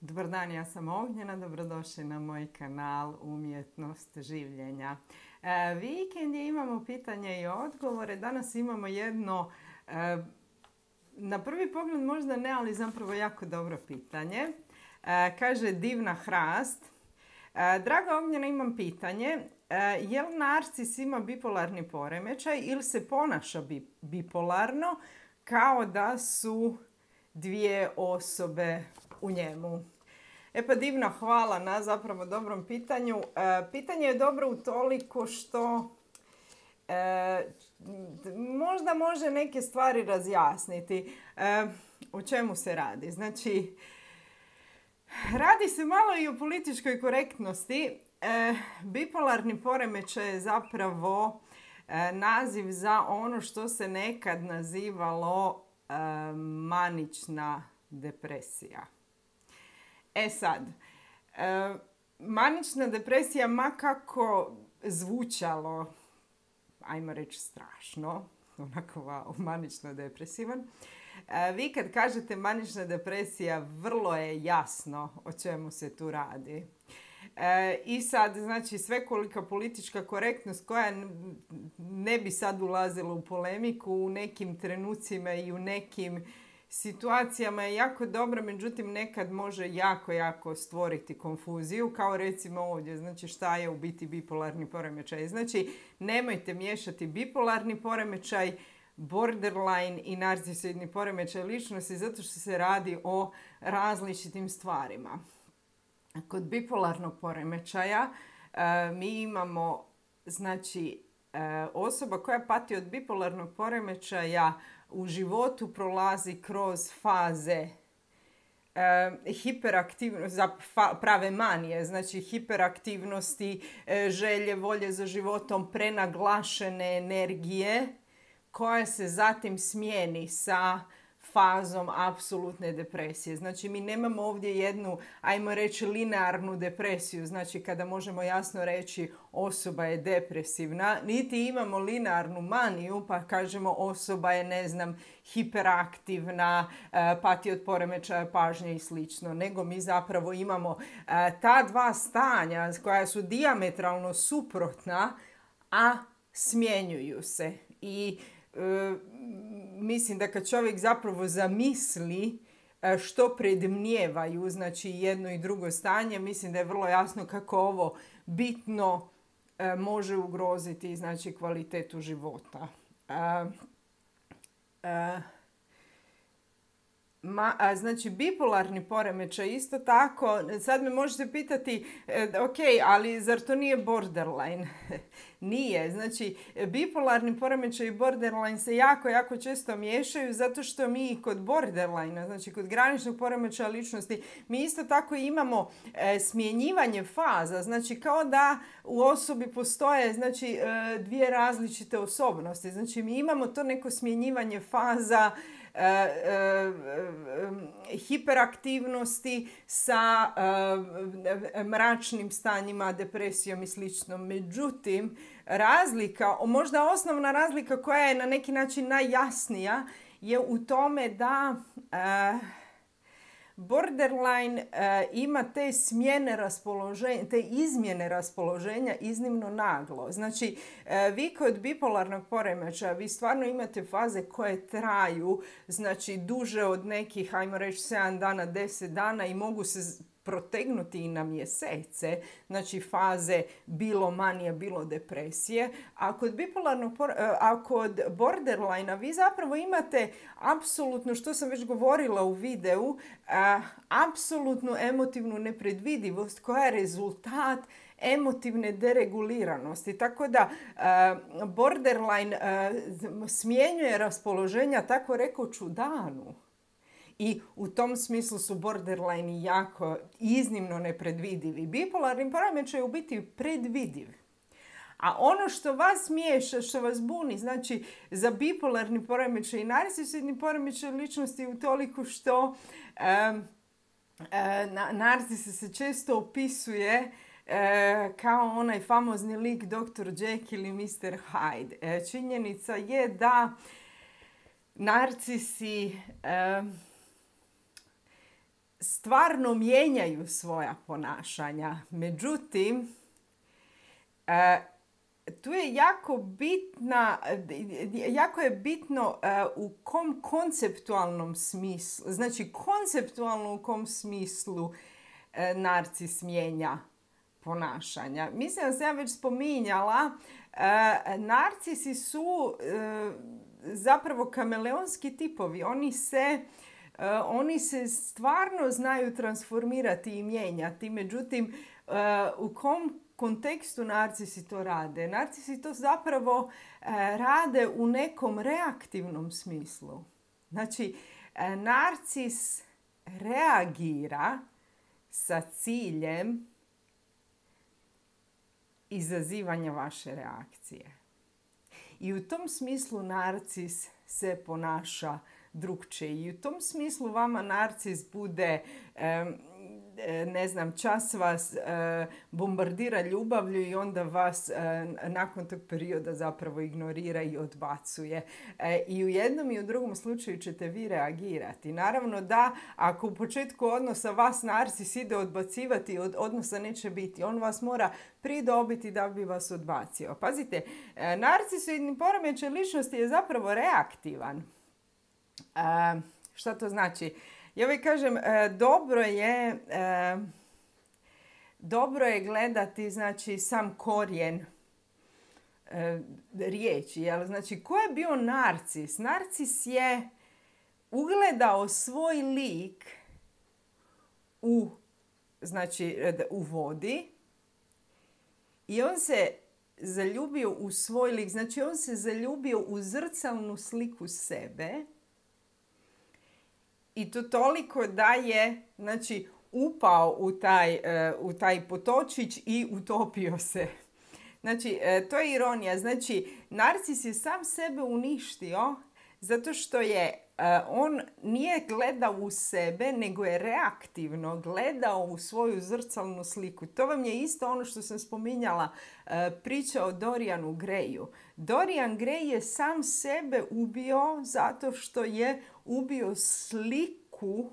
Dobar dan, ja sam Ognjena, dobrodošli na moj kanal Umjetnost življenja. Vikend je, imamo pitanje i odgovore. Danas imamo jedno, na prvi pogled možda ne, ali zapravo jako dobro pitanje. Kaže Divna Hrast. Draga Ognjena, imam pitanje. Je li narcis ima bipolarni poremećaj ili se ponaša bipolarno kao da su dvije osobe u njemu? E pa Divna, hvala na zapravo dobrom pitanju. Pitanje je dobro utoliko što možda može neke stvari razjasniti. O čemu se radi? Znači, radi se malo i o političkoj korektnosti. Bipolarni poremećaj je zapravo naziv za ono što se nekad nazivalo manična depresija. E sad, manična depresija, ma kako zvučalo, ajmo reći strašno, onako wow, manično depresivan, vi kad kažete manična depresija, vrlo je jasno o čemu se tu radi. I sad, znači, svekolika politička korektnost koja ne bi sad ulazila u polemiku, u nekim trenucima i u nekim situacijama je jako dobra, međutim nekad može jako stvoriti konfuziju, kao recimo ovdje. Znači, šta je u biti bipolarni poremećaj? Znači, nemojte miješati bipolarni poremećaj, borderline i narcisoidni poremećaj ličnosti, zato što se radi o različitim stvarima. Kod bipolarnog poremećaja mi imamo, znači, osoba koja pati od bipolarnog poremećaja u životu prolazi kroz faze hiperaktivnosti, prave manije, znači hiperaktivnosti, želje, volje za životom, prenaglašene energije, koja se zatim smijeni sa fazom apsolutne depresije. Znači, mi nemamo ovdje jednu, ajmo reći, linearnu depresiju, znači kada možemo jasno reći osoba je depresivna, niti imamo linearnu maniju pa kažemo osoba je, ne znam, hiperaktivna, pati od poremećaja pažnje i slično, nego mi zapravo imamo ta dva stanja koja su dijametralno suprotna, a smjenjuju se. I mislim da kad čovjek zapravo zamisli što predmnijevaju, znači jedno i drugo stanje, mislim da je vrlo jasno kako ovo bitno može ugroziti, znači, kvalitetu života. Znači, bipolarni poremećaj isto tako, sad me možete pitati, ok, ali zar to nije borderline? Nije. Znači, bipolarni poremećaj i borderline se jako često miješaju, zato što mi kod borderline, znači kod graničnog poremećaja ličnosti, mi isto tako imamo smjenjivanje faza. Znači, kao da u osobi postoje, znači, dvije različite osobnosti. Znači, mi imamo to neko smjenjivanje faza, hiperaktivnosti sa mračnim stanjima, depresijom i slično. Međutim, razlika, možda osnovna razlika koja je na neki način najjasnija je u tome da borderline ima te smjene raspoloženja, te izmjene raspoloženja iznimno naglo. Znači, vi kod bipolarnog poremećaja, vi stvarno imate faze koje traju, znači, duže od nekih, ajmo reći, 7 dana, 10 dana i mogu se protegnuti i na mjesece, znači faze bilo manije, bilo depresije. A kod borderline-a vi zapravo imate apsolutno, što sam već govorila u videu, apsolutnu emotivnu nepredvidivost koja je rezultat emotivne dereguliranosti. Tako da borderline smjenjuje raspoloženja, tako rekoć, u danu. I u tom smislu su borderline jako iznimno nepredvidivi. Bipolarni poremećaj je u biti predvidiv. A ono što vas miješa, što vas buni, znači, za bipolarni poremećaj i narcisoidni poremećaj ličnosti u toliko što narcis se često opisuje kao onaj famozni lik Dr. Jekyll i Mr. Hyde. Činjenica je da narcisi stvarno mijenjaju svoja ponašanja. Međutim, tu je jako je bitno u kom konceptualnom smislu, znači konceptualno u kom smislu narcis mijenja ponašanja. Mislim da sam ja već spominjala, narcisi su zapravo kameleonski tipovi. Oni se stvarno znaju transformirati i mijenjati. Međutim, u kom kontekstu narcisi to rade? Narcisi to zapravo rade u nekom reaktivnom smislu. Znači, narcis reagira sa ciljem izazivanja vaše reakcije. I u tom smislu narcis se ponaša drukčije. I u tom smislu vama narcis bude, čas vas bombardira ljubavlju i onda vas nakon tog perioda zapravo ignorira i odbacuje. I u jednom i u drugom slučaju ćete vi reagirati. Naravno da ako u početku odnosa vas narcis ide odbacivati, odnosa neće biti. On vas mora pridobiti da bi vas odbacio. Pazite, narcisoidni poremećaj ličnosti je zapravo reaktivan. Šta to znači? Ja uvijek kažem, dobro je gledati, znači, sam korijen riječi. Jel? Znači, ko je bio narcis? Narcis je ugledao svoj lik u vodi i on se zaljubio u svoj lik. Znači, on se zaljubio u zrcalnu sliku sebe. I to toliko da je, znači, upao u taj potočić i utopio se. Znači, to je ironija. Znači, narcis je sam sebe uništio zato što je on nije gledao u sebe, nego je reaktivno gledao u svoju zrcalnu sliku. To vam je isto ono što sam spominjala, priča o Dorianu Grayu. Dorian Gray je sam sebe ubio zato što je ubio sliku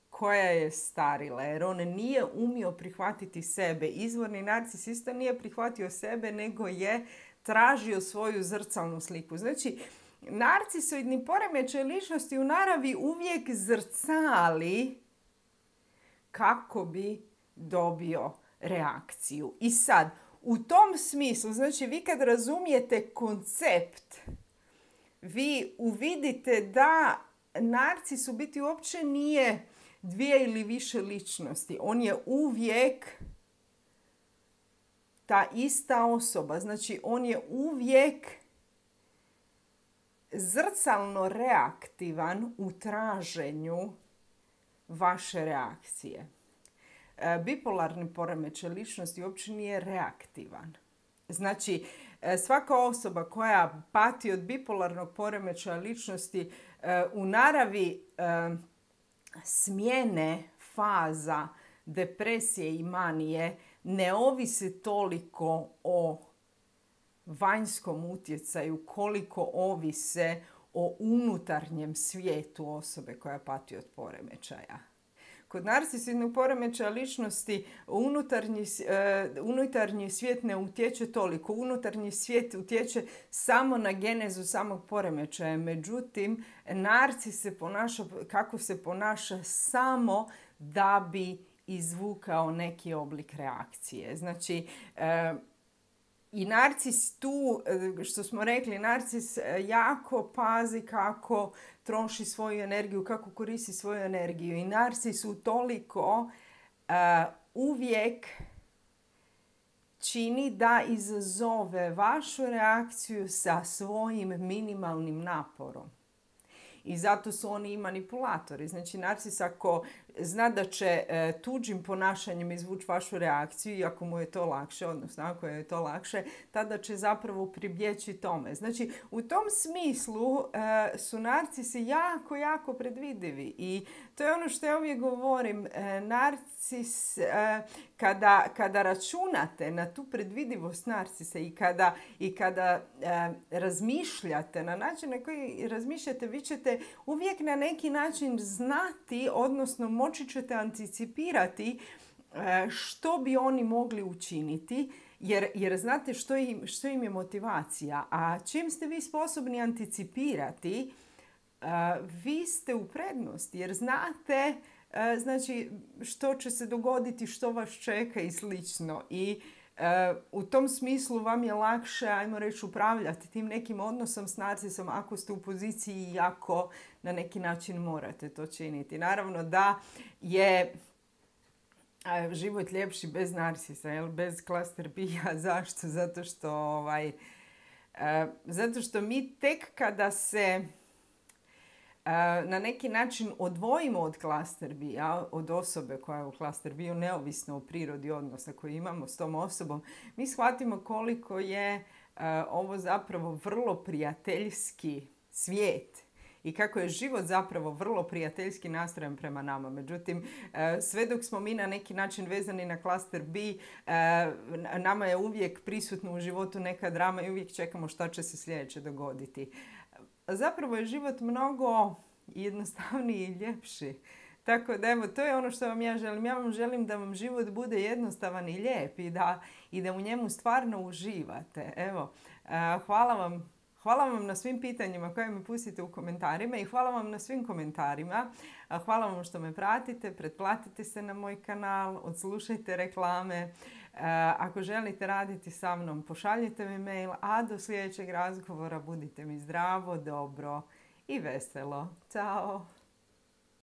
koja je starila, jer on nije umio prihvatiti sebe. Izvorni narcis isto nije prihvatio sebe, nego je tražio svoju zrcalnu sliku. Znači, narcisoidni poremećaj ličnosti u naravi uvijek zrcali kako bi dobio reakciju. I sad, u tom smislu, znači vi kad razumijete koncept, vi uvidite da narcis u biti uopće nije dvije ili više ličnosti. On je uvijek ta ista osoba. Znači, on je uvijek zrcalno reaktivan u traženju vaše reakcije. Bipolarni poremećaj ličnosti uopće nije reaktivan. Znači, svaka osoba koja pati od bipolarnog poremećaja ličnosti u naravi smjene faza depresije i manije ne ovisi toliko o vanjskom utjecaju koliko ovise o unutarnjem svijetu osobe koja pati od poremećaja. Kod narcisoidnog poremećaja ličnosti unutarnji svijet ne utječe toliko. Unutarnji svijet utječe samo na genezu samog poremećaja. Međutim, narcis se ponaša kako se ponaša samo da bi izvukao neki oblik reakcije. Znači, i narcis tu, što smo rekli, narcis jako pazi kako troši svoju energiju, kako koristi svoju energiju. I narcis utoliko uvijek čini da izazove vašu reakciju sa svojim minimalnim naporom. I zato su oni i manipulatori. Znači, narcis ako zna da će tuđim ponašanjem izvući vašu reakciju, i ako mu je to lakše, odnosno ako je to lakše, tada će zapravo pribjeći tome. Znači, u tom smislu su narcisi jako, jako predvidivi i to je ono što ja uvijek govorim. Narcis, kada računate na tu predvidivost narcisa i kada razmišljate na način na koji razmišljate, vi ćete uvijek na neki način znati, odnosno moći ćete anticipirati što bi oni mogli učiniti, jer znate što im je motivacija. A čim ste vi sposobni anticipirati, vi ste u prednosti, jer znate znači što će se dogoditi, što vas čeka i slično. I u tom smislu vam je lakše, ajmo reći, upravljati tim nekim odnosom s narcisom ako ste u poziciji i ako na neki način morate to činiti. Naravno da je život ljepši bez narcisa, bez cluster B-a. Zašto? Zato što mi tek kada se na neki način odvojimo od cluster B-a, od osobe koja je u cluster B-u, neovisno o prirodi odnosa koji imamo s tom osobom, mi shvatimo koliko je ovo zapravo vrlo prijateljski svijet i kako je život zapravo vrlo prijateljski nastrojen prema nama. Međutim, sve dok smo mi na neki način vezani na cluster B, nama je uvijek prisutno u životu neka drama i uvijek čekamo šta će se sljedeće dogoditi. Zapravo je život mnogo jednostavniji i ljepši. Tako da evo, to je ono što vam ja želim. Ja vam želim da vam život bude jednostavan i lijep i da u njemu stvarno uživate. Evo, hvala vam na svim pitanjima koje mi pustite u komentarima i hvala vam na svim komentarima. Hvala vam što me pratite, pretplatite se na moj kanal, odslušajte reklame. Ako želite raditi sa mnom, pošaljite mi mail, a do sljedećeg razgovora budite mi zdravo, dobro i veselo. Ćao!